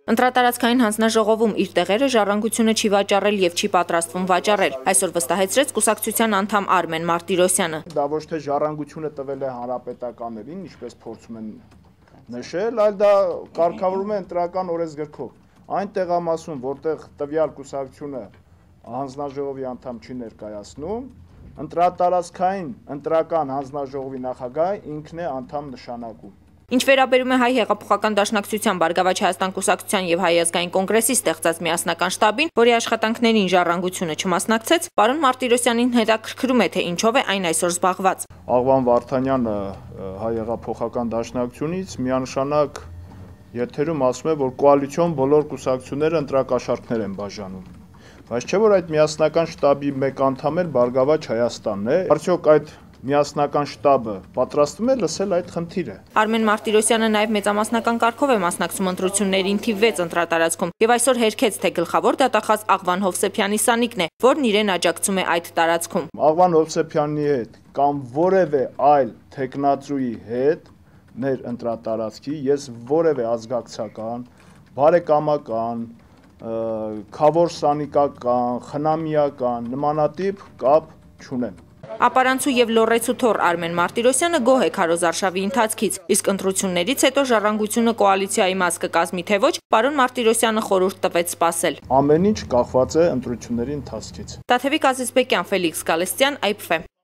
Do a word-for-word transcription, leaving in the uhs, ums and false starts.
Ընտրատարածքային հանձնաժողովում իր տեղերը Ժառանգությունը չի վաճառել եւ չի պատրաստվում վաճառել, այսօր վստահեցրեց կուսակցության անդամ Արմեն Մարտիրոսյանը։ Դա ոչ թե Ժառանգությունը տվել է հանրապետականներին, ինչպես փորձում են նշել, այլ դա կարգավորվում է ընտրական օրենսգրքով։ Այն տեղամասում, որտեղ տվյալ կուսակցությունը հանձնաժողովի անդամ չի ներկայացնում, ընտրատարածքային ընտրական հանձնաժողովի նախագահը ինքն է անդամ նշանակում։ Ինչ վերաբերում է Հայ հեղափոխական դաշնակցության Բարգավաճ Հայաստան կուսակցության եւ Հայ ազգային կոնգրեսի ստեղծած միասնական շտաբին, որի աշխատանքներին Ժառանգությունը չմասնակցեց, պարոն Մարտիրոսյանին հետաքրքրում է, թե ինչով է այն այսօր զբաղված։ Աղվան Վարդանյանը Հայ հեղափոխական դաշնակցությունից միանշանակ եթերում ասում է, որ կոալիցիոն բոլոր կուսակցությունները ընտրակաշառքներ են բաժանում։ Բայց չէ՞ որ այդ միասնական շտաբի մեկ անդամ էլ Բարգավաճ Հայաստանն է։ Արդյոք այդ միասնական շտաբը պատրաստվում է լսել այդ խնդիրը։ Արմեն Մարտիրոսյանը նաև մեծամասնական կարգով է մասնակցում ընտրություններին թիվ վեց ընտրատարածքում եւ այսօր հերքեց, թե գլխավոր դատախազ Աղվան Հովսեփյանի Սանիկն է, որն իրեն աջակցում է այդ տարածքում։ Աղվան Հովսեփյանի հետ կամ որևէ այլ տեխնացուի հետ մեր ընտրատարածքի ես որևէ ազգակցական, բարեկամական, քավոր սանիկական, խնամիական նմանատիպ կապ չունեմ։ Ապարանցու եւ լոռեցու թոռ Արմեն Մարտիրոսյանը գոհ է Քարոզ արշավի ընթացքից, իսկ ընտրություններից հետո Ժառանգությունը կոալիցիայի մաս կկազմի թե ոչ, պարոն Մարտիրոսյանը խորհուրդ տվեց սպասել։ Ամեն ինչ կախված է ընտրությունների ընթացքից։ Տաթևիկ Ազիզբեկյան, Ֆելիքս Գալստյան, Այ Փ Ֆ։